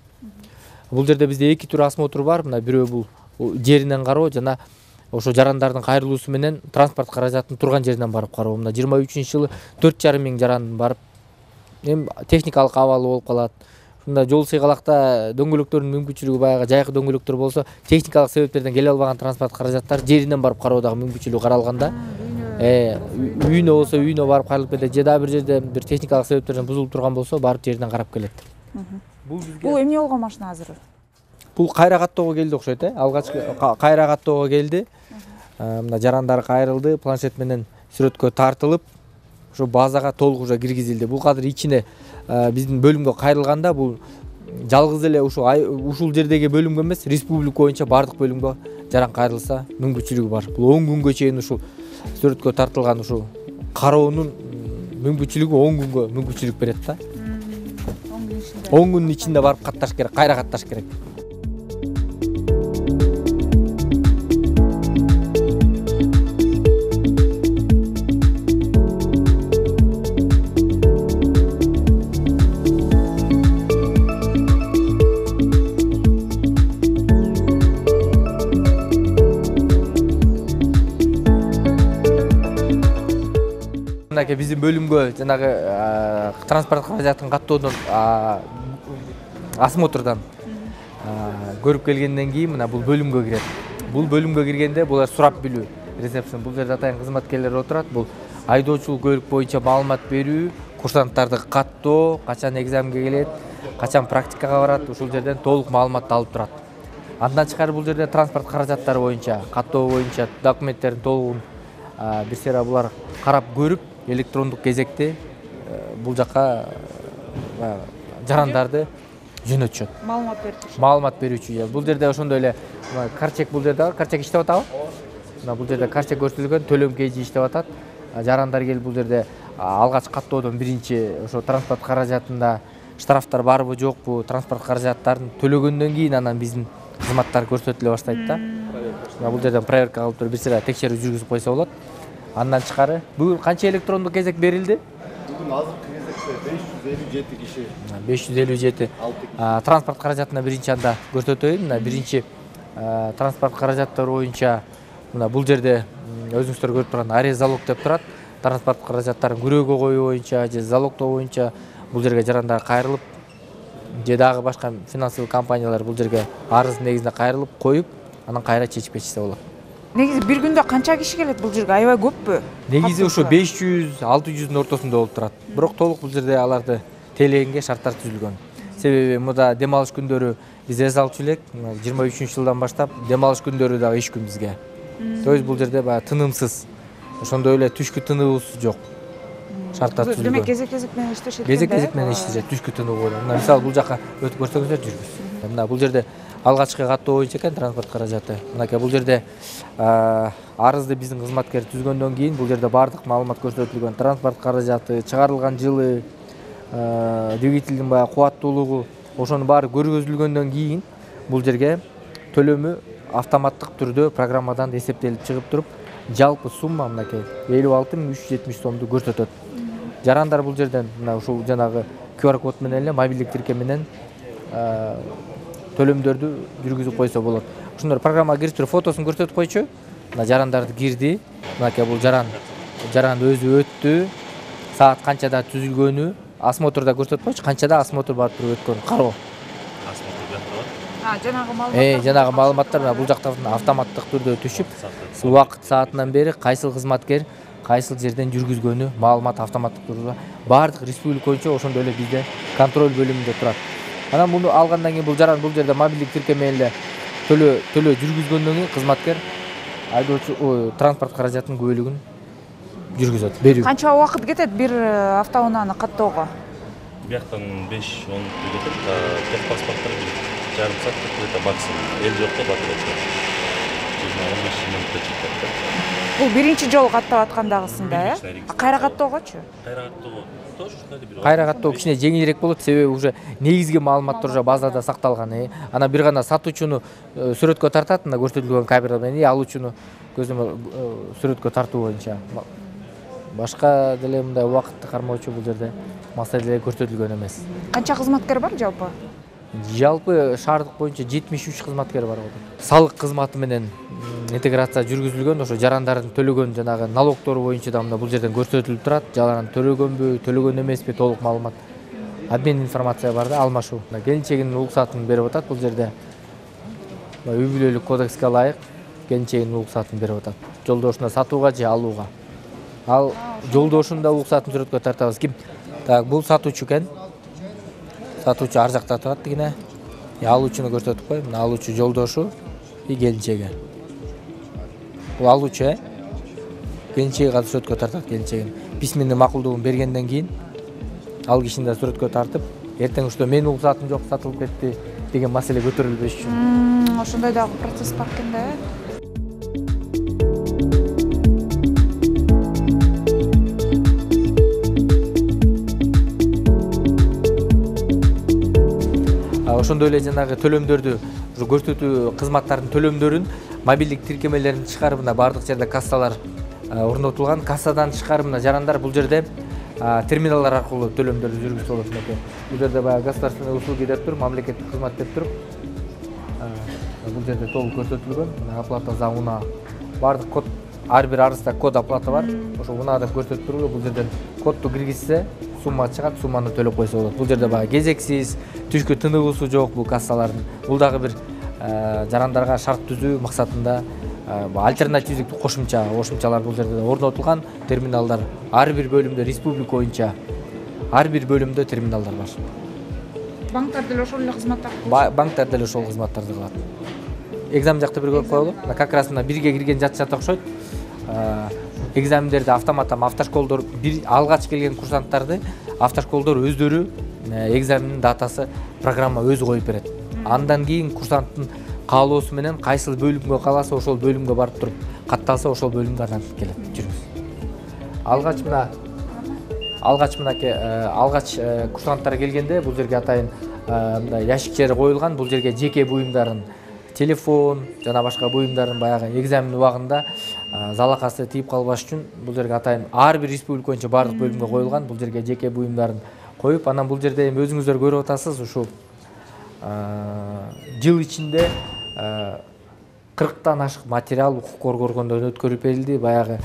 Бул жерде бизде эки түр осмотр бар. Мына бирөө бул жеринен кароо жана ошо жарандардын кайрылуусу менен транспорт каражатынын турган жеринен барып кароо. Мына жыйырма үчүнчү жылы төрт жарым миң жаран барып эми техникалык абалы болуп калат. Мында жол сыйгалакта дөңгөлөктөрдүн мүмкүнчүлүгү баягы жайкы дөңгөлөктөр болсо, техникалык себептерден келе албаган транспорт каражаттар жеринен барып кароо дагы мүмкүнчүлүгү каралган да. Э, үйүнө болсо үйүнө барып каралып кетет. Же дагы бир жерде бир техникалык себептерден бузулуп турган болсо, барып жеринен карап келет. Бул бул эмне болгон машина азыр? Бул кайра каттоого келди окшойт, э? Алгачкы кайра каттоого келди. Мына жарандар кайрылды, планшет менен сүрөткө тартылып, ошо базага толук уже киргизилди. Бул кадыр ичине биздин бөлүмгө кайрылганда бул жалгыз эле ушул ушул жердеги бөлүмгө эмес, республика боюнча бардык бөлүмгө жаран кайрылса мүмкүнчүлүгү бар. Бул он күнгө чейин ушул сүрөткө тартылган ушул кароонун мүмкүнчүлүгү он күнгө мүмкүнчүлүк берет да. он күндүн ичинде барып катташ керек, кайра катташ керек. Мынакей биздин бөлүмгө жанагы транспорт каражатын каттоодон осмотрдан көрүп келгенден кийин мына бул бөлүмгө кирет. Бул бөлүмгө киргенде булар сурап билүү, ресепшн. Бул жерде атайын кызматкерлер отурат. Бул айдоочулук көлүк боюнча маалымат берүү, курсанттарды каттоо, качан экзаменге келет, качан практикага барат, ушул жерден толук маалымат алып турат. Андан тышкары бул жерде транспорт каражаттары боюнча, каттоо боюнча документтердин толугун бир сыйра булар карап көрүп, электрондук кезекте бул жака жарандарды жөнөтүшөт. Маалымат берүүчү. Маалымат берүүчү. Бул жерде ошондой эле карчек бул жерде бар. Карчек иштеп атабы? Мына бул жерде карчек көрсөтүлгөн, төлөм кейжи иштеп атат. Жарандар келип бул жерде алгач каттоодон биринчи ошо транспорт каражатында штрафтар барбы жокпу, транспорт каражаттарын төлөгөндөн кийин анан биздин кызматтар көрсөтүлө баштайт да. Мына бул жерден проверка кылып туруп бир сыйра текшерүү жүргүзүп койсо болот. Андан тышкары бүгүн канча электрондук кезек берилди? Бүгүн азыркы кезек беш жүз элүү жети киши. беш жүз элүү жети. Транспорт каражатына биринчи анда көрсөтөйүн. Мына биринчи транспорт каражаттары боюнча мына бул жерде өзүңүздөр көрүп турган арест залог деп турат. Транспорт каражаттарын күрөөгө коюу боюнча же залогдоо боюнча бул жерге жарандар кайрылып же дагы башка финансылык компаниялар бул жерге арыздын негизинде кайрылып коюп, анан кайра чечип кетишсе болот. Негизи бир күндө канча киши келет бул жерге? Аябай көппү? Негизи ушу беш жүз алты жүздүн ортосунда болуп турат. Бирок толук бул жерде аларды тейлегенге шарттар түзүлгөн. Себеби мында дем алыш күндөрү биз эс алчу элек, жыйырма үчүнчү жылдан баштап дем алыш күндөрү дагы иш күн бизге. То есть бул жерде баягы тынымсыз. Ошондой эле түшкү тыныбыз жок. Шарттар түзүлгөн. Демек кезек-кезек менен иштешет. Кезек-кезек менен иштешет, түшкү тынуу болот. Мына мисалы бул жака өтүп көрсөңүздөр жүргүз. Мына бул жерде алгачкы каттоо боюнча экен транспорт каражаты. Мынакей бул жерде арызды биздин кызматкер түзгөндөн кийин бул жерде баардык маалымат көрсөтүлгөн. Транспорт каражаты, чыгарылган жылы, двигательдин баягы кубаттуулугу, ошонун баары көргөзүлгөндөн кийин бул жерге төлөмү автоматтык түрдө программадан эсептелип чыгып туруп, жалпы сумма мынакей элүү алты миң үч жүз жетимиш сомду көрсөтөт. Жарандар бул жерден мына ушул жанагы ку ар код менен эле мобилдик тиркем менен төлөмдөрдү жүргүзүп койсо болот. Ошондор программага кирип фотосун көрсөтүп койчу. Мына жарандарды кирди. Мынакей бул жаран жаран өзү өттү. Саат канчада түзүлгөнү осмотрда көрсөтүп койчу. Канчада осмотр барып туруп өткөнү кароо. А, жанагы маалыматтар. Э, жанагы маалыматтар мына бул жактан автоматтык түрдө түшүп, убакыт саатынан бери кайсыл кызматкер кайсыл жерден жүргүзгөнү маалымат автоматтык түрдө баардык республика боюнча ошондой эле бизде контроль бөлүмүндө турат. Анан муну алгандан кийин бул жаран бул жерде мобилдик тиркем менен эле төлөө төлөө жүргүзгөндөн кийин кызматкер айдоочу транспорт каражатынын көбөлүгүн жүргүзөт. Берүү. Канча убакыт кетет бир автоунааны каттоого? Бияктан беш он кетет. Техпаспорттор жарым саат кетет максимум. Эл жокто батырат. жыйырма он беш мүнөттө чыкат. Бул биринчи жолу каттап аткандагысында, э? Кайра каттоогочу? Кайра каттоого тоже ушундай бир. Кайра каттоо кичине жеңилирээк болот, себеби уже негизги маалыматтар уже базада сакталган. Ана бир гана сатуучуну сүрөткө тартат, мына көрсөтүлгөн камера менен алуучуну көзөмөл сүрөткө тартуу боюнча. Башка деле мындай убакытты кармоочу бул жерде маселе көрсөтүлгөн эмес. Канча кызматкер бар жалпы? Жалпы шаардык боюнча жетимиш үч кызматкер бар. Салык кызматы менен интеграция жүргүзүлгөн, ошо жарандардын төлөгөн жанагы налогтору боюнча да мына бул жерден көрсөтүлүп турат. Жаран төлөгөнбү, төлөгөн эмеспи толук маалымат. Обмен информация бар да, алмашуу. Келинчегинин уруксатын берип атат бул жерде. Үй бүлөлүк кодекске ылайык келинчегинин уруксатын берип атат. Жолдошуна сатууга же алууга. Ал жолдошунун да уруксатын сүрөткө тартабыз. Ким? Так, бул сатуучу экен. Сатуучу ар жакта турат дегене. Алуучуну көрсөтүп кой. Мына алуучу жолдошу и келинчеги. Бул алуучу, э? Келинчеги катып сүрөткө тартат келинчегин. Письменный макулдугун бергенден кийин ал кишини да сүрөткө тартып, эртең ушто менин уруксатым жок, сатылып кетти деген маселе көтөрүлбөш үчүн. Ошондой дагы процесс бар экен да, э? Ошондой эле жанагы төлөмдөрдү, көрсөтүү кызматтардын төлөмдөрүн мобилдик тиркемелерин чыгарып, мына бардык жерде кассалар орнотулган. Кассадан тышкары мына жарандар бул жерде терминалдар аркылуу төлөмдөрдү жүргүзүп болот экен. Бул жерде баягы государственный услуги деп туруп, мамлекеттик кызмат деп туруп, бул жерде толук көрсөтүлгөн. Мына оплата за уна. Бардык код, ар бир арызда код оплата бар. Ошо уна деп көрсөтүп туруп, бул жерден кодду киргизсе, сумма чыгат, сумманы төлөп койсо болот. Бул жерде баягы кезексиз, түшкү тыныбысы жок бул кассалардын. Бул дагы бир жарандарга шарт түзүү максатында альтернативдик кошумча, кошумчалар бул жерде орнотулган. Терминалдар ар бир бөлүмдө республика боюнча ар бир бөлүмдө терминалдар бар. Банктар деле ошол эле кызматтарды кылат. Банктар деле ошол кызматтарды кылат. Экзамен жакта бир көрүп коелу. Как раз мына бирге кирген жатышат окшойт. Экзамендерди автоматтан автошколдор бир алгач келген курсанттарды автошколдор өздөрү экзаменин датасы программа өзү коюп берет. Андан кийин курсанттын каалоосу менен кайсыл бөлүмгө кааласа ошол бөлүмгө барып туруп катталса ошол бөлүмгө анан келет жүрүз. Алгач мына алгач мынакей алгач курсанттар келгенде бул жерге атайын мындай ящиктер коюлган. Бул жерге жеке буюмдарын телефон жана башка буюмдардын баягы экзамен убагында залакасы тийип калбаш үчүн бул жерге атайын ар бир республика боюнча баардык бөлүмгө коюлган. Бул жерге жеке буюмдарын коюп, анан бул жерде эми өзүңүздөр көрүп атасыз, ушул жыл ичинде кырктан ашык материал укук коргоо органдарынан өткөрүп берилди. Баягы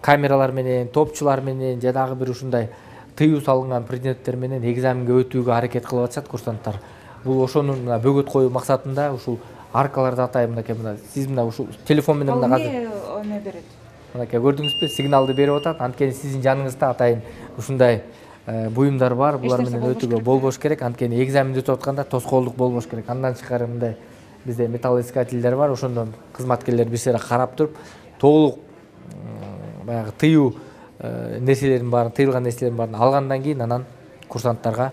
камералар менен, топчулар менен жанагы бир ушундай тыюу салынган предметтер менен экзаменге өтүүгө аракет кылып атышат курсанттар. Бул ошонун бөгөт коюу максатында ушул аркаларды атайын мынакей мына сиз мына ушул телефон менен мына азыр эме берет. Мынакей көрдүңүзбү, сигналды берип атат. Анткени сиздин жаныңызда атайын ушундай буюмдар бар. Булар менен өтүүгө болбош керек. Анткени экзаменди өтүп атканда тоскоолдук болбош керек. Андан тышкары мындай бизде металлоискательдер бар. Ошондон кызматкерлер бир сыйра карап туруп, толук баягы тыюу нерселердин баарын, тыйылган нерселердин баарын алгандан кийин анан курсанттарга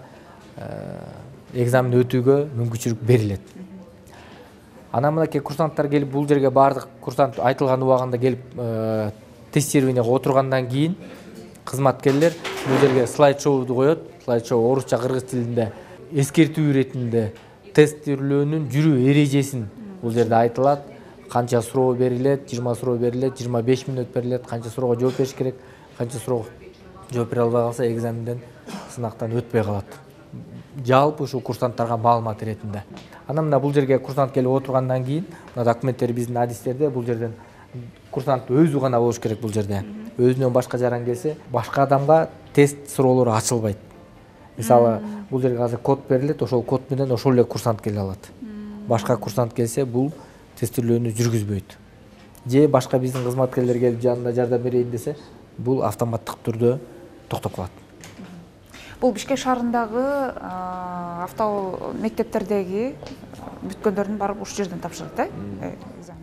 экзамен өтүүгө мүмкүнчүлүк берилет. Анан мынакей курсанттар келип бул жерге баардык курсант айтылган убагында келип тестированияга отургандан кийин кызматкерлер бул жерге слайд-шоуду коет. Слайд-шоу орусча, кыргыз тилинде эскертүү иретинде тестирлөөнүн жүрүү эрежесин бул жерде айтылат. Канча суроо берилет, жыйырма суроо берилет, жыйырма беш мүнөт берилет, канча суроого жооп бериш керек, канча суроого жооп бере албай калса экзаменден, сынактан өтпөй калат. Жалпы ушул курсанттарга маалымат иретинде. Анан мына бул жерге курсант келип отургандан кийин, мына документтер биздин адистерде, бул жерден курсант өзү гана болуш керек бул жерде. Өзүнөн башка жаран келсе, башка адамга тест суроолору ачылбайт. Мисалы, бул жерге азыр код берилет, ошол код менен ошол эле курсант келе алат. Башка курсант келсе, бул тестирлөөнү жүргүзбөйт. Же башка биздин кызматкерлер келип жанында жардам берейин десе, бул автоматтык түрдө токтоп калат. Бул Бишкек шаарындагы авто мектептердеги бүткөндөрдүн барып ушул жерден тапшырат, э?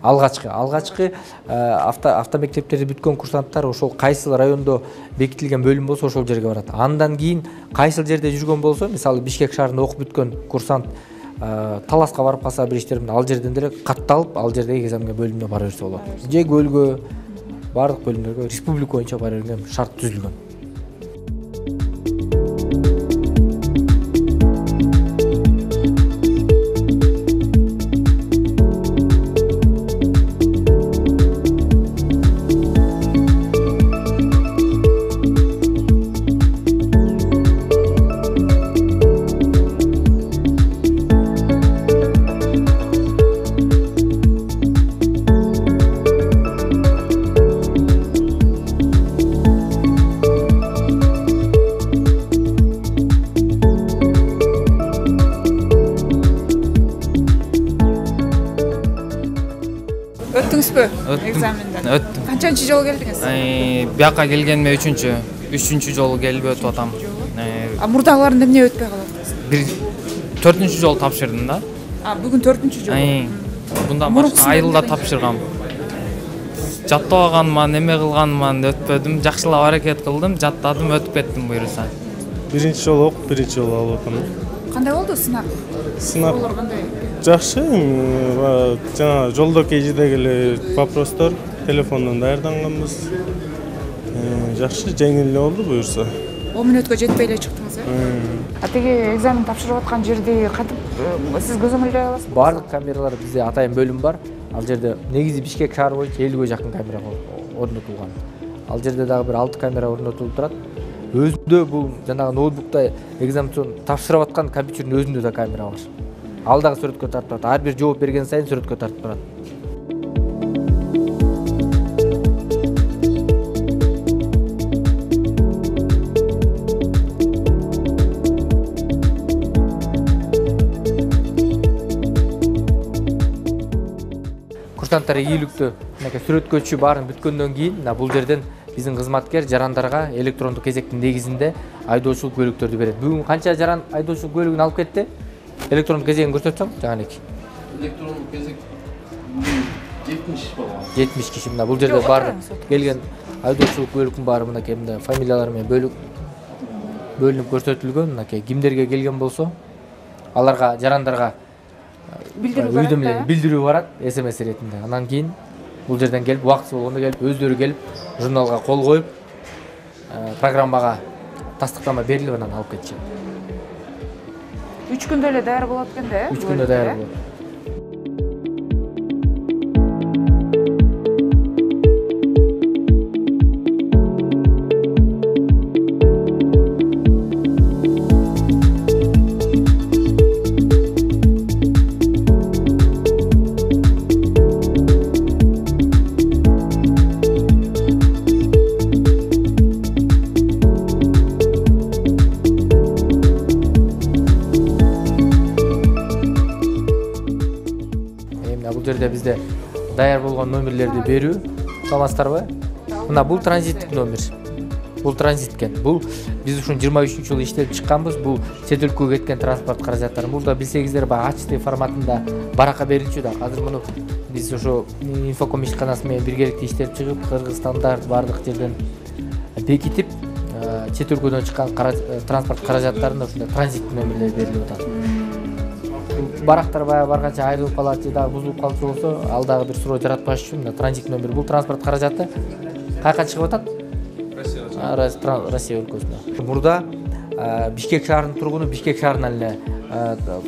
Алгачкы, алгачкы авто автомектептерди бүткөн курсанттар ошол кайсыл райондо бекитилген бөлүм болсо ошол жерге барат. Андан кийин кайсыл жерде жүргөн болсо, мисалы Бишкек шаарында окуп бүткөн курсант Таласка барып калса бир иштерин ал жерден деле катталып, ал жердеги экзаменге бөлүмүнө бара берсе болот. Же көлгө, бардык бөлүмдөргө республика боюнча бара берген шарт түзүлгөн. Өттүңүзбү экзаменден? Өттүм. Канчанчы жолу келдиңиз? Бияка келгениме үчүнчү, үчүнчү жолу келип өтүп атам. А мурдагыларында эмне өтпөй калат? Бир төртүнчү жолу тапшырдым да. А бүгүн төртүнчү жолу. Bundan башка айылда тапшыргам. Жаттабаганман, эме кылганман, өтпөдүм. Жакшылап аракет кылдым, жаттадым, өтүп кеттим буюрса. Биринчи жолу окуп, биринчи жолу алып атам. Кандай болду сынак? Сынак жакшы. Жана жолдо кежидеги эле вопростор телефондон даярданганбыз. Жакшы, жеңил эле болду буюрса. он мүнөткө жетпей эле чыктыңыз, э? А теги экзамен тапшырып аткан жерди кантип сиз көзөмөлдөй аласызбы? Бардык камералар бизде атайын бөлүм бар. Ал жерде негизи Бишкек шаары боюнча элүүгө жакын камера орнотулган. Ал жерде дагы бир алты камера орнотулуп турат. Өзүндө бул жанагы ноутбукта экзамен тапшырып аткан компьютердин өзүндө да камера бар. Ал дагы сүрөткө тартып турат. Ар бир жооп берген сайын сүрөткө тартып турат. Курсанттар ийгиликтүү мынакей сүрөткөчү баарын бүткөндөн кийин мына бул жерден биздин кызматкер жарандарга электрондук кезектин негизинде айдоочулук көлүктөрдү берет. Бүгүн канча жаран айдоочулук көлүгүн алып кетти? Электрондук кезегин көрсөтсөң, жаганеки. Электрондук кезек жетимиш болгон. жетимиш киши мына бул жерде бар келген айдоочулук көлүктүн баары мынакей мындай фамилиялары менен бөлүк бөлүнүп көрсөтүлгөн. Мынакей кимдерге келген болсо, аларга жарандарга билдирүү билдирүү барат эс эм эс иретинде. Анан кийин бул жерден келип, убактысы болгондо келип, өздөрү келип, журналга кол коюп, программага тастыктама берилип анан алып кетишет. үч күндө эле даяр болот экен да, э? үч күндө даяр болот. Бул жерде бизде даяр болгон номерлерди берүү, саламатсыздарбы? Мына бул транзиттик номер. Бул транзиткен. Бул биз ушун жыйырма үчүнчү жылы иштеп чыкканбыз. Бул чет өлкөгө кеткен транспорт каражаттары. Бул да билсеңиздер, баягы эйч ди форматында баракка берилчү да. Азыр муну биз ошо инфоком ишканасы менен биргеликте иштеп чыгып, Кыргызстанда бардык жерден бекитип, чет өлкөдөн чыккан транспорт каражаттарына ушундай транзиттик номерлер берилип атат. Барактар баягы барганча айрылып калат же дагы бузулуп калчу болсо, ал дагы бир суроо жаратпаш үчүн мына транзит номер. Бул транспорт каражаты каяка чыгып атат? Россия өлкөсүнө. Мурда Бишкек шаарынын тургуну Бишкек шаарынан эле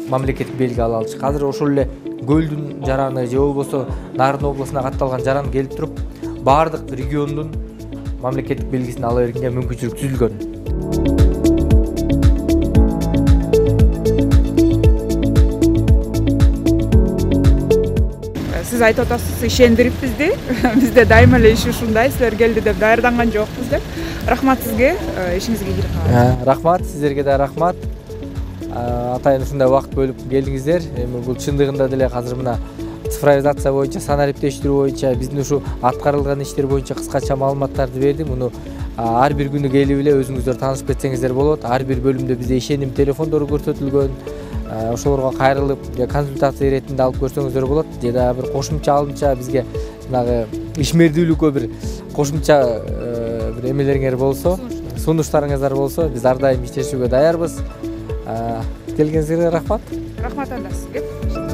мамлекеттик белги ала алчу. Азыр ошол эле көлдүн жараны же болбосо Нарын областына катталган жаран келип туруп, баардык региондун мамлекеттик белгисин ала бергенге мүмкүнчүлүк түзүлгөн. Сиз айтып атасыз, ишендириппизди. Бизде дайыма эле иш ушундай, силер келди деп даярданган жокпуз деп. Рахмат сизге, ишиңизге кирип. Рахмат, сиздерге да рахмат. Атайын ушундай убакыт бөлүп келдиңиздер. Эми бул чындыгында деле азыр мына цифровизация боюнча, санариптештирүү боюнча биздин ушу аткарылган иштер боюнча кыскача маалыматтарды бердим. Муну ар бир күнү келип эле өзүңүздөр таанышып кетсеңиздер болот. Ар бир бөлүмдө бизде ишеним телефондору көрсөтүлгөн. Ошолорго кайрылып, консультация иретинде алып көрсөңүздөр болот. Же да бир кошумча алымча бизге жанагы ишмердүүлүккө бир кошумча бир эмелериңер болсо, сунуштарыңыздар болсо, биз ар дайым иштешүүгө даярбыз. Келгениңизге рахмат. Рахмат анда сизге.